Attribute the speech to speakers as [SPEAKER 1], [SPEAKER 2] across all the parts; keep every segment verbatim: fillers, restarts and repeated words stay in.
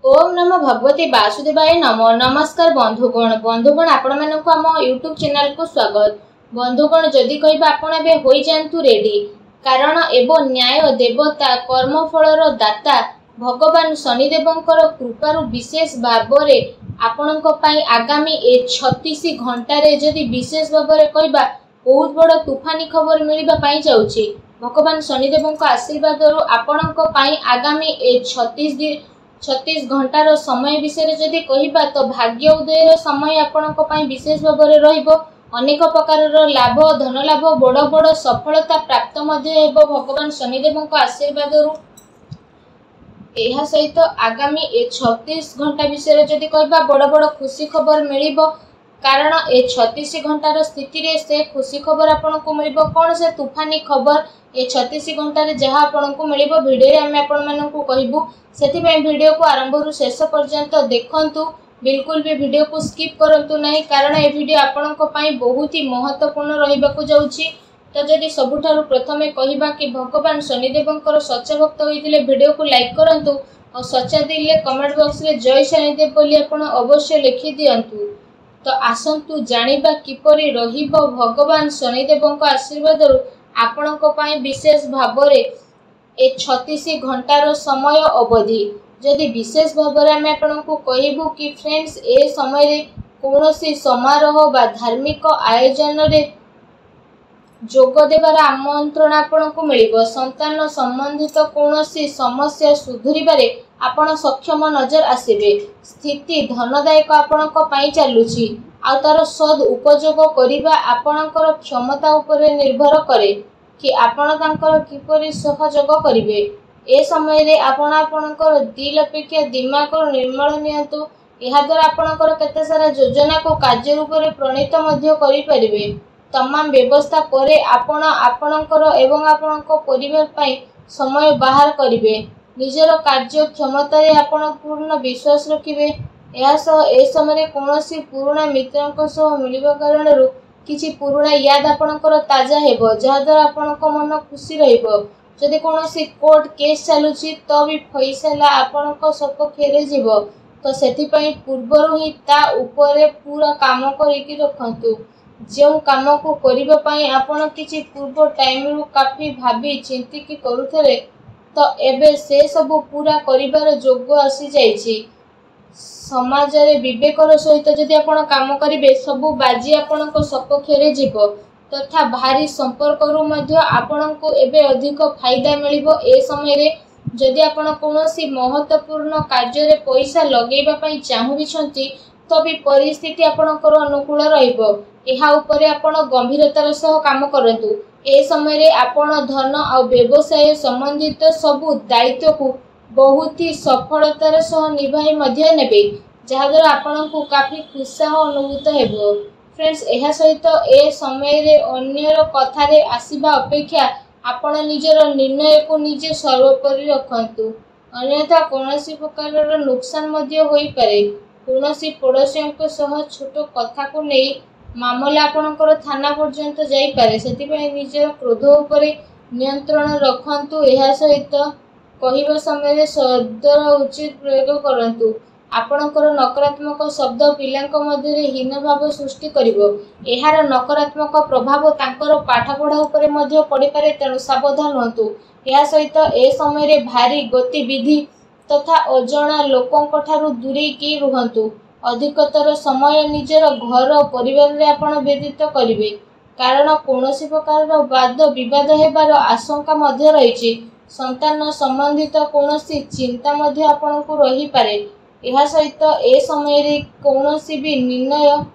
[SPEAKER 1] ଓମ୍ ନମୋ ଭଗବତେ ବାସୁଦେବାୟ ନମଃ। ନମସ୍କାର ବନ୍ଧୁଗଣ, ବନ୍ଧୁଗଣ ଆପଣମାନଙ୍କୁ ଆମ ୟୁଟ୍ୟୁବ୍ ଚ୍ୟାନେଲକୁ ସ୍ୱାଗତ। ବନ୍ଧୁଗଣ, ଯଦି କହିବା ଆପଣ ଏବେ ହୋଇଯାଆନ୍ତୁ ରେଡି, କାରଣ ହେବ ନ୍ୟାୟ ଦେବତା, କର୍ମଫଳର ଦାତା ଭଗବାନ ଶନିଦେବଙ୍କର କୃପାରୁ ବିଶେଷ ଭାବରେ ଆପଣଙ୍କ ପାଇଁ ଆଗାମୀ ଏ ଛତିଶ ଘଣ୍ଟାରେ ଯଦି ବିଶେଷ ଭାବରେ କହିବା, ବହୁତ ବଡ଼ ତୁଫାନି ଖବର ମିଳିବା ପାଇଁ ଯାଉଛି। ଭଗବାନ ଶନିଦେବଙ୍କ ଆଶୀର୍ବାଦରୁ ଆପଣଙ୍କ ପାଇଁ ଆଗାମୀ ଏ ଛତିଶ ଛତିଶ ଘଣ୍ଟାର ସମୟ ବିଷୟରେ ଯଦି କହିବା, ତ ଭାଗ୍ୟ ଉଦୟର ସମୟ ଆପଣଙ୍କ ପାଇଁ ବିଶେଷ ଭାବରେ ରହିବ। ଅନେକ ପ୍ରକାରର ଲାଭ, ଧନ ଲାଭ, ବଡ଼ ବଡ଼ ସଫଳତା ପ୍ରାପ୍ତ ମଧ୍ୟ ହେବ ଭଗବାନ ଶନିଦେବଙ୍କ ଆଶୀର୍ବାଦରୁ। ଏହା ସହିତ ଆଗାମୀ ଏ ଛତିଶ ଘଣ୍ଟା ବିଷୟରେ ଯଦି କହିବା, ବଡ଼ ବଡ଼ ଖୁସି ଖବର ମିଳିବ, କାରଣ ଏ ଛତିଶ ଘଣ୍ଟାର ସ୍ଥିତିରେ ସେ ଖୁସି ଖବର ଆପଣଙ୍କୁ ମିଳିବ। କ'ଣ ସେ ତୁଫାନି ଖବର ଏ ଛତିଶ ଘଣ୍ଟାରେ ଯାହା ଆପଣଙ୍କୁ ମିଳିବ, ଭିଡ଼ିଓରେ ଆମେ ଆପଣମାନଙ୍କୁ କହିବୁ। ସେଥିପାଇଁ ଭିଡ଼ିଓକୁ ଆରମ୍ଭରୁ ଶେଷ ପର୍ଯ୍ୟନ୍ତ ଦେଖନ୍ତୁ, ବିଲକୁଲ ବି ଭିଡ଼ିଓକୁ ସ୍କିପ୍ କରନ୍ତୁ ନାହିଁ, କାରଣ ଏ ଭିଡ଼ିଓ ଆପଣଙ୍କ ପାଇଁ ବହୁତ ହି ମହତ୍ତ୍ୱପୂର୍ଣ୍ଣ ରହିବାକୁ ଯାଉଛି। ତ ଯଦି ସବୁଠାରୁ ପ୍ରଥମେ କହିବା କି ଭଗବାନ ଶନିଦେବଙ୍କର ସଚ୍ଚା ଭକ୍ତ ହୋଇଥିଲେ ଭିଡ଼ିଓକୁ ଲାଇକ୍ କରନ୍ତୁ ଆଉ ସଚ୍ଚା ଦିଲେ କମେଣ୍ଟ ବକ୍ସରେ ଜୟ ଶନିଦେବ ବୋଲି ଆପଣ ଅବଶ୍ୟ ଲେଖିଦିଅନ୍ତୁ। ତ ଆସନ୍ତୁ ଜାଣିବା କିପରି ରହିବ ଭଗବାନ ଶନିଦେବଙ୍କ ଆଶୀର୍ବାଦରୁ ଆପଣଙ୍କ ପାଇଁ ବିଶେଷ ଭାବରେ ଏ ଛତିଶ ଘଣ୍ଟାର ସମୟ ଅବଧି। ଯଦି ବିଶେଷ ଭାବରେ ଆମେ ଆପଣଙ୍କୁ କହିବୁ କି ଫ୍ରେଣ୍ଡସ୍, ଏ ସମୟରେ କୌଣସି ସମାରୋହ ବା ଧାର୍ମିକ ଆୟୋଜନରେ ଯୋଗ ଦେବାର ଆମନ୍ତ୍ରଣ ଆପଣଙ୍କୁ ମିଳିବ। ସନ୍ତାନ ସମ୍ବନ୍ଧିତ କୌଣସି ସମସ୍ୟା ସୁଧୁରିବାରେ ଆପଣ ସକ୍ଷମ ନଜର ଆସିବେ। ସ୍ଥିତି ଧନଦାୟକ ଆପଣଙ୍କ ପାଇଁ ଚାଲୁଛି, ଆଉ ତାର ସଦ୍ ଉପଯୋଗ କରିବା ଆପଣଙ୍କର କ୍ଷମତା ଉପରେ ନିର୍ଭର କରେ କି ଆପଣ ତାଙ୍କର କିପରି ସହଯୋଗ କରିବେ। ଏ ସମୟରେ ଆପଣ ଆପଣଙ୍କର ଦିଲ ଅପେକ୍ଷା ଦିମାଗରୁ ନିର୍ମଳ ନିଅନ୍ତୁ। ଏହାଦ୍ୱାରା ଆପଣଙ୍କର କେତେ ସାରା ଯୋଜନାକୁ କାର୍ଯ୍ୟ ରୂପରେ ପ୍ରଣୀତ ମଧ୍ୟ କରିପାରିବେ। ତମାମ ବ୍ୟବସ୍ଥା ପରେ ଆପଣ ଆପଣଙ୍କର ଏବଂ ଆପଣଙ୍କ ପରିବାର ପାଇଁ ସମୟ ବାହାର କରିବେ। ନିଜର କାର୍ଯ୍ୟ କ୍ଷମତାରେ ଆପଣ ପୂର୍ଣ୍ଣ ବିଶ୍ୱାସ ରଖିବେ। ଏହା ସହ ଏ ସମୟରେ କୌଣସି ପୁରୁଣା ମିତ୍ରଙ୍କ ସହ ମିଳିବା କାରଣରୁ କିଛି ପୁରୁଣା ୟାଦ ଆପଣଙ୍କର ତାଜା ହେବ, ଯାହାଦ୍ୱାରା ଆପଣଙ୍କ ମନ ଖୁସି ରହିବ। ଯଦି କୌଣସି କୋର୍ଟ କେସ୍ ଚାଲୁଛି ତ ବି ଫଇସଲା ଆପଣଙ୍କ ସପକ୍ଷରେ ଯିବ, ତ ସେଥିପାଇଁ ପୂର୍ବରୁ ହିଁ ତା ଉପରେ ପୁରା କାମ କରିକି ରଖନ୍ତୁ। ଯେଉଁ କାମକୁ କରିବା ପାଇଁ ଆପଣ କିଛି ପୂର୍ବ ଟାଇମରୁ କାଫି ଭାବି ଚିନ୍ତିକି କରୁଥିଲେ, ତ ଏବେ ସେସବୁ ପୁରା କରିବାର ଯୋଗ ଆସିଯାଇଛି। ସମାଜରେ ବିବେକର ସହିତ ଯଦି ଆପଣ କାମ କରିବେ, ସବୁ ବାଜି ଆପଣଙ୍କ ସପକ୍ଷରେ ଯିବ ତଥା ଭାରି ସମ୍ପର୍କରୁ ମଧ୍ୟ ଆପଣଙ୍କୁ ଏବେ ଅଧିକ ଫାଇଦା ମିଳିବ। ଏ ସମୟରେ ଯଦି ଆପଣ କୌଣସି ମହତ୍ତ୍ୱପୂର୍ଣ୍ଣ କାର୍ଯ୍ୟରେ ପଇସା ଲଗେଇବା ପାଇଁ ଚାହୁଁଛନ୍ତି, ତ ବି ପରିସ୍ଥିତି ଆପଣଙ୍କର ଅନୁକୂଳ ରହିବ। ଏହା ଉପରେ ଆପଣ ଗମ୍ଭୀରତାର ସହ କାମ କରନ୍ତୁ। ଏ ସମୟରେ ଆପଣ ଧନ ଆଉ ବ୍ୟବସାୟ ସମ୍ବନ୍ଧିତ ସବୁ ଦାୟିତ୍ୱକୁ ବହୁତ ହି ସଫଳତାର ସହ ନିଭାଇ ମଧ୍ୟ ନେବେ, ଯାହାଦ୍ୱାରା ଆପଣଙ୍କୁ କାଫି ଉତ୍ସାହ ଅନୁଭୂତ ହେବ। ଫ୍ରେଣ୍ଡସ୍, ଏହା ସହିତ ଏ ସମୟରେ ଅନ୍ୟର କଥାରେ ଆସିବା ଅପେକ୍ଷା ଆପଣ ନିଜର ନିର୍ଣ୍ଣୟକୁ ନିଜେ ସର୍ବୋପରି ରଖନ୍ତୁ, ଅନ୍ୟଥା କୌଣସି ପ୍ରକାରର ନୁକସାନ ମଧ୍ୟ ହୋଇପାରେ। କୌଣସି ପଡ଼ୋଶୀଙ୍କ ସହ ଛୋଟ କଥାକୁ ନେଇ ମାମଲା ଆପଣଙ୍କର ଥାନା ପର୍ଯ୍ୟନ୍ତ ଯାଇପାରେ। ସେଥିପାଇଁ ନିଜର କ୍ରୋଧ ଉପରେ ନିୟନ୍ତ୍ରଣ ରଖନ୍ତୁ। ଏହା ସହିତ କହିବା ସମୟରେ ଶବ୍ଦର ଉଚିତ ପ୍ରୟୋଗ କରନ୍ତୁ। ଆପଣଙ୍କର ନକାରାତ୍ମକ ଶବ୍ଦ ପିଲାଙ୍କ ମଧ୍ୟରେ ହୀନ ଭାବ ସୃଷ୍ଟି କରିବ। ଏହାର ନକାରାତ୍ମକ ପ୍ରଭାବ ତାଙ୍କର ପାଠପଢ଼ା ଉପରେ ମଧ୍ୟ ପଡ଼ିପାରେ, ତେଣୁ ସାବଧାନ ହୁଅନ୍ତୁ। ଏହା ସହିତ ଏ ସମୟରେ ଭାରି ଗତିବିଧି ତଥା ଅଜଣା ଲୋକଙ୍କଠାରୁ ଦୂରେଇକି ରୁହନ୍ତୁ। ଅଧିକତର ସମୟ ନିଜର ଘର ପରିବାରରେ ଆପଣ ବ୍ୟତୀତ କରିବେ, କାରଣ କୌଣସି ପ୍ରକାରର ବାଦ ବିବାଦ ହେବାର ଆଶଙ୍କା ମଧ୍ୟ ରହିଛି। ସନ୍ତାନ ସମ୍ବନ୍ଧିତ କୌଣସି ଚିନ୍ତା ମଧ୍ୟ ଆପଣଙ୍କୁ ରହିପାରେ। ଏହା ସହିତ ଏ ସମୟରେ କୌଣସି ବି ନିର୍ଣ୍ଣୟ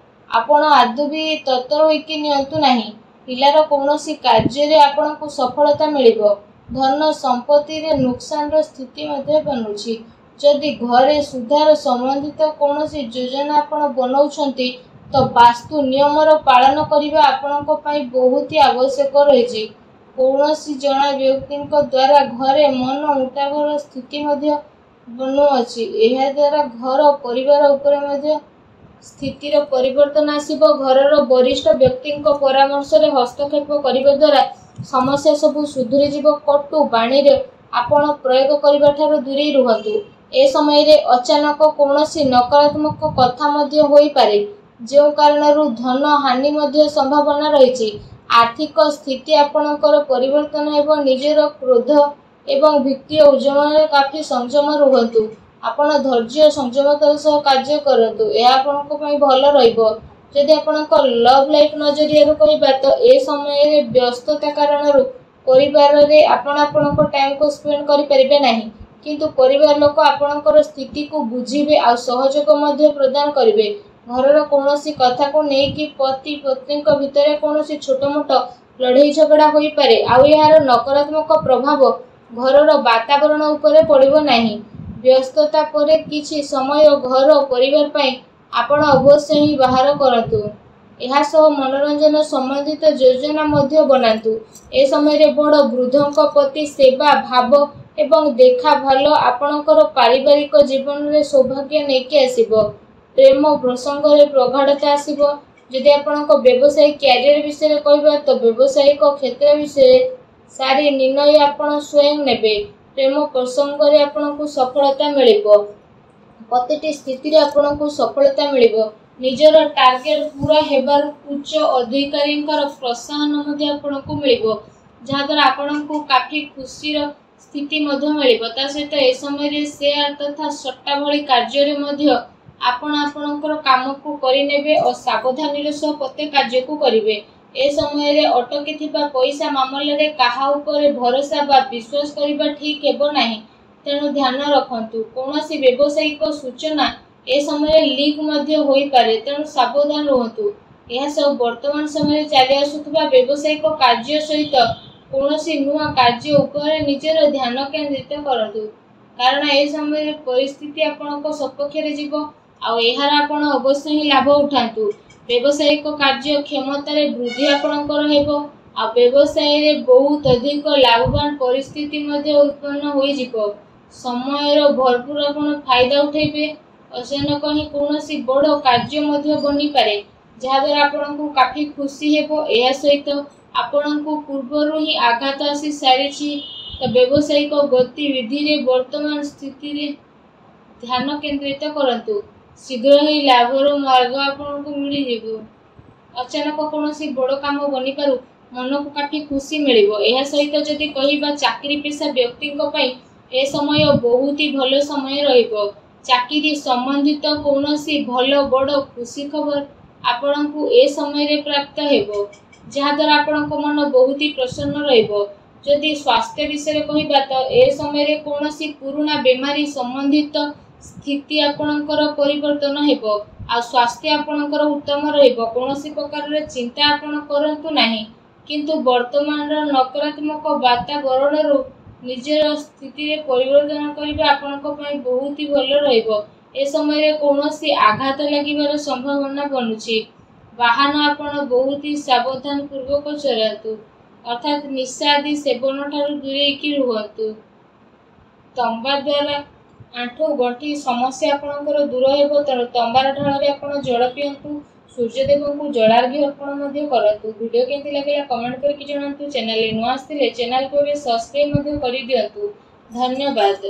[SPEAKER 1] ଆପଣ ଆଦୌ ବି ତରତର ହୋଇକି ନିଅନ୍ତୁ ନାହିଁ। ପିଲାର କୌଣସି କାର୍ଯ୍ୟରେ ଆପଣଙ୍କୁ ସଫଳତା ମିଳିବ। ଧନ ସମ୍ପତ୍ତିରେ ନୁକସାନର ସ୍ଥିତି ମଧ୍ୟ ବନୁଛି। ଯଦି ଘରେ ସୁଧାର ସମ୍ବନ୍ଧିତ କୌଣସି ଯୋଜନା ଆପଣ ବନାଉଛନ୍ତି, ତ ବାସ୍ତୁ ନିୟମର ପାଳନ କରିବା ଆପଣଙ୍କ ପାଇଁ ବହୁତ ହି ଆବଶ୍ୟକ ରହିଛି। କୌଣସି ଜଣେ ବ୍ୟକ୍ତିଙ୍କ ଦ୍ୱାରା ଘରେ ମନ ମୁଟାବର ସ୍ଥିତି ମଧ୍ୟ ବନୁଅଛି। ଏହାଦ୍ୱାରା ଘର ପରିବାର ଉପରେ ମଧ୍ୟ ସ୍ଥିତିର ପରିବର୍ତ୍ତନ ଆସିବ। ଘରର ବରିଷ୍ଠ ବ୍ୟକ୍ତିଙ୍କ ପରାମର୍ଶରେ ହସ୍ତକ୍ଷେପ କରିବା ଦ୍ୱାରା ସମସ୍ୟା ସବୁ ସୁଧୁରିଯିବ। କଟୁ ବାଣୀରେ ଆପଣ ପ୍ରୟୋଗ କରିବା ଠାରୁ ଦୂରେଇ ରୁହନ୍ତୁ। ଏ ସମୟରେ ଅଚାନକ କୌଣସି ନକାରାତ୍ମକ କଥା ମଧ୍ୟ ହୋଇପାରେ, ଯେଉଁ କାରଣରୁ ଧନ ହାନି ମଧ୍ୟ ସମ୍ଭାବନା ରହିଛି। ଆର୍ଥିକ ସ୍ଥିତି ଆପଣଙ୍କର ପରିବର୍ତ୍ତନ ହେବ। ନିଜର କ୍ରୋଧ ଏବଂ ବିତ୍ତୀୟ ଉଦ୍ୟମରେ କାଫି ସଂଯମ ରୁହନ୍ତୁ। ଆପଣ ଧୈର୍ଯ୍ୟ ସଂଯମତାର ସହ କାର୍ଯ୍ୟ କରନ୍ତୁ, ଏହା ଆପଣଙ୍କ ପାଇଁ ଭଲ ରହିବ। ଯଦି ଆପଣଙ୍କ ଲଭ୍ ଲାଇଫ୍ ନଜରିଆରୁ କହିବା ତ ଏ ସମୟରେ ବ୍ୟସ୍ତତା କାରଣରୁ ପରିବାରରେ ଆପଣ ଆପଣଙ୍କ ଟାଇମକୁ ସ୍ପେଣ୍ଡ କରିପାରିବେ ନାହିଁ। କିନ୍ତୁ ପରିବାର ଲୋକ ଆପଣଙ୍କର ସ୍ଥିତିକୁ ବୁଝିବେ ଆଉ ସହଯୋଗ ମଧ୍ୟ ପ୍ରଦାନ କରିବେ। ଘରର କୌଣସି କଥାକୁ ନେଇକି ପତି ପତ୍ନୀଙ୍କ ଭିତରେ କୌଣସି ଛୋଟମୋଟ ଲଢ଼େଇ ଝଗଡ଼ା ହୋଇପାରେ, ଆଉ ଏହାର ନକାରାତ୍ମକ ପ୍ରଭାବ ଘରର ବାତାବରଣ ଉପରେ ପଡ଼ିବ ନାହିଁ। ବ୍ୟସ୍ତତା ପରେ କିଛି ସମୟ ଘର ପରିବାର ପାଇଁ ଆପଣ ଅବଶ୍ୟ ହିଁ ବାହାର କରନ୍ତୁ। ଏହା ସହ ମନୋରଞ୍ଜନ ସମ୍ବନ୍ଧିତ ଯୋଜନା ମଧ୍ୟ ବନାନ୍ତୁ। ଏ ସମୟରେ ବଡ଼ ବୃଦ୍ଧଙ୍କ ପ୍ରତି ସେବା ଭାବ ଏବଂ ଦେଖା ଭଲ ଆପଣଙ୍କର ପାରିବାରିକ ଜୀବନରେ ସୌଭାଗ୍ୟ ନେଇକି ଆସିବ। ପ୍ରେମ ପ୍ରସଙ୍ଗରେ ପ୍ରଗାଢ଼ତା ଆସିବ। ଯଦି ଆପଣଙ୍କ ବ୍ୟବସାୟୀ କ୍ୟାରିୟର ବିଷୟରେ କହିବା ତ ବ୍ୟବସାୟିକ କ୍ଷେତ୍ର ବିଷୟରେ ସାରି ନିର୍ଣ୍ଣୟ ଆପଣ ସ୍ୱୟଂ ନେବେ। ପ୍ରେମ ପ୍ରସଙ୍ଗରେ ଆପଣଙ୍କୁ ସଫଳତା ମିଳିବ। ପ୍ରତିଟି ସ୍ଥିତିରେ ଆପଣଙ୍କୁ ସଫଳତା ମିଳିବ। ନିଜର ଟାର୍ଗେଟ ପୂରା ହେବାରୁ ଉଚ୍ଚ ଅଧିକାରୀଙ୍କର ପ୍ରୋତ୍ସାହନ ମଧ୍ୟ ଆପଣଙ୍କୁ ମିଳିବ, ଯାହାଦ୍ୱାରା ଆପଣଙ୍କୁ କାଫି ଖୁସିର ସ୍ଥିତି ମଧ୍ୟ ମିଳିବ। ତା ସହିତ ଏ ସମୟରେ ସେୟାର ତଥା ସଟ୍ଟା ଭଳି କାର୍ଯ୍ୟରେ ମଧ୍ୟ ଆପଣ ଆପଣଙ୍କର କାମକୁ କରିନେବେ ଓ ସାବଧାନୀର ସହ ପ୍ରତ୍ୟେକ କାର୍ଯ୍ୟକୁ କରିବେ। ଏ ସମୟରେ ଅଟକିଥିବା ପଇସା ମାମଲାରେ କାହା ଉପରେ ଭରସା ବା ବିଶ୍ୱାସ କରିବା ଠିକ୍ ହେବ ନାହିଁ, ତେଣୁ ଧ୍ୟାନ ରଖନ୍ତୁ। କୌଣସି ବ୍ୟବସାୟିକ ସୂଚନା ଏ ସମୟରେ ଲିକ୍ ମଧ୍ୟ ହୋଇପାରେ, ତେଣୁ ସାବଧାନ ରୁହନ୍ତୁ। ଏହା ସହ ବର୍ତ୍ତମାନ ସମୟରେ ଚାଲି ଆସୁଥିବା ବ୍ୟବସାୟିକ କାର୍ଯ୍ୟ ସହିତ କୌଣସି ନୂଆ କାର୍ଯ୍ୟ ଉପରେ ନିଜର ଧ୍ୟାନ କେନ୍ଦ୍ରିତ କରନ୍ତୁ, କାରଣ ଏ ସମୟରେ ପରିସ୍ଥିତି ଆପଣଙ୍କ ସପକ୍ଷରେ ଯିବ ଆଉ ଏହାର ଆପଣ ଅବଶ୍ୟ ହିଁ ଲାଭ ଉଠାନ୍ତୁ। ବ୍ୟବସାୟିକ କାର୍ଯ୍ୟ କ୍ଷମତାରେ ବୃଦ୍ଧି ଆପଣଙ୍କର ହେବ ଆଉ ବ୍ୟବସାୟରେ ବହୁତ ଅଧିକ ଲାଭବାନ ପରିସ୍ଥିତି ମଧ୍ୟ ଉତ୍ପନ୍ନ ହୋଇଯିବ। ସମୟର ଭରପୁର ଆପଣ ଫାଇଦା ଉଠାଇବେ। ଅଚାନକ ହିଁ କୌଣସି ବଡ଼ କାର୍ଯ୍ୟ ମଧ୍ୟ ବନିପାରେ, ଯାହାଦ୍ୱାରା ଆପଣଙ୍କୁ କାଫି ଖୁସି ହେବ। ଏହା ସହିତ ଆପଣଙ୍କୁ ପୂର୍ବରୁ ହିଁ ଆଘାତ ଆସି ସାରିଛି ତ ବ୍ୟବସାୟିକ ଗତିବିଧିରେ ବର୍ତ୍ତମାନ ସ୍ଥିତିରେ ଧ୍ୟାନ କେନ୍ଦ୍ରିତ କରନ୍ତୁ। ଶୀଘ୍ର ହିଁ ଲାଭର ମାର୍ଗ ଆପଣଙ୍କୁ ମିଳିଯିବ। ଅଚାନକ କୌଣସି ବଡ଼ କାମ ବନିପାରୁ ମନକୁ କାଫି ଖୁସି ମିଳିବ। ଏହା ସହିତ ଯଦି କହିବା ଚାକିରି ପେଶା ବ୍ୟକ୍ତିଙ୍କ ପାଇଁ ଏ ସମୟ ବହୁତ ହି ଭଲ ସମୟ ରହିବ। ଚାକିରି ସମ୍ବନ୍ଧିତ କୌଣସି ଭଲ ବଡ଼ ଖୁସି ଖବର ଆପଣଙ୍କୁ ଏ ସମୟରେ ପ୍ରାପ୍ତ ହେବ, ଯାହାଦ୍ୱାରା ଆପଣଙ୍କ ମନ ବହୁତ ହି ପ୍ରସନ୍ନ ରହିବ। ଯଦି ସ୍ୱାସ୍ଥ୍ୟ ବିଷୟରେ କହିବା ତ ଏ ସମୟରେ କୌଣସି ପୁରୁଣା ବେମାରୀ ସମ୍ବନ୍ଧିତ ସ୍ଥିତି ଆପଣଙ୍କର ପରିବର୍ତ୍ତନ ହେବ ଆଉ ସ୍ୱାସ୍ଥ୍ୟ ଆପଣଙ୍କର ଉତ୍ତମ ରହିବ। କୌଣସି ପ୍ରକାରର ଚିନ୍ତା ଆପଣ କରନ୍ତୁ ନାହିଁ, କିନ୍ତୁ ବର୍ତ୍ତମାନର ନକାରାତ୍ମକ ବାତାବରଣରୁ ନିଜର ସ୍ଥିତିରେ ପରିବର୍ତ୍ତନ କରିବା ଆପଣଙ୍କ ପାଇଁ ବହୁତ ହି ଭଲ ରହିବ। ଏ ସମୟରେ କୌଣସି ଆଘାତ ଲାଗିବାର ସମ୍ଭାବନା ବନୁଛି। ବାହନ ଆପଣ ବହୁତ ହି ସାବଧାନ ପୂର୍ବକ ଚଲାନ୍ତୁ, ଅର୍ଥାତ୍ ନିଶା ଆଦି ସେବନ ଠାରୁ ଦୂରେଇକି ରୁହନ୍ତୁ। ତମ୍ବା ଦ୍ୱାରା ଆଣ୍ଠୁ ଗଣ୍ଠି ସମସ୍ୟା ଆପଣଙ୍କର ଦୂର ହେବ, ତେଣୁ ତମ୍ବାର ଢାଳରେ ଆପଣ ଜଳ ପିଅନ୍ତୁ। ସୂର୍ଯ୍ୟଦେବଙ୍କୁ ଜଳାର୍ଘ୍ୟ ଅର୍ପଣ ମଧ୍ୟ କରନ୍ତୁ। ଭିଡ଼ିଓ କେମିତି ଲାଗିଲା କମେଣ୍ଟ କରିକି ଜଣାନ୍ତୁ। ଚ୍ୟାନେଲରେ ନୂଆ ଆସିଥିଲେ ଚ୍ୟାନେଲକୁ ଏବେ ସବସ୍କ୍ରାଇବ୍ ମଧ୍ୟ କରିଦିଅନ୍ତୁ। ଧନ୍ୟବାଦ।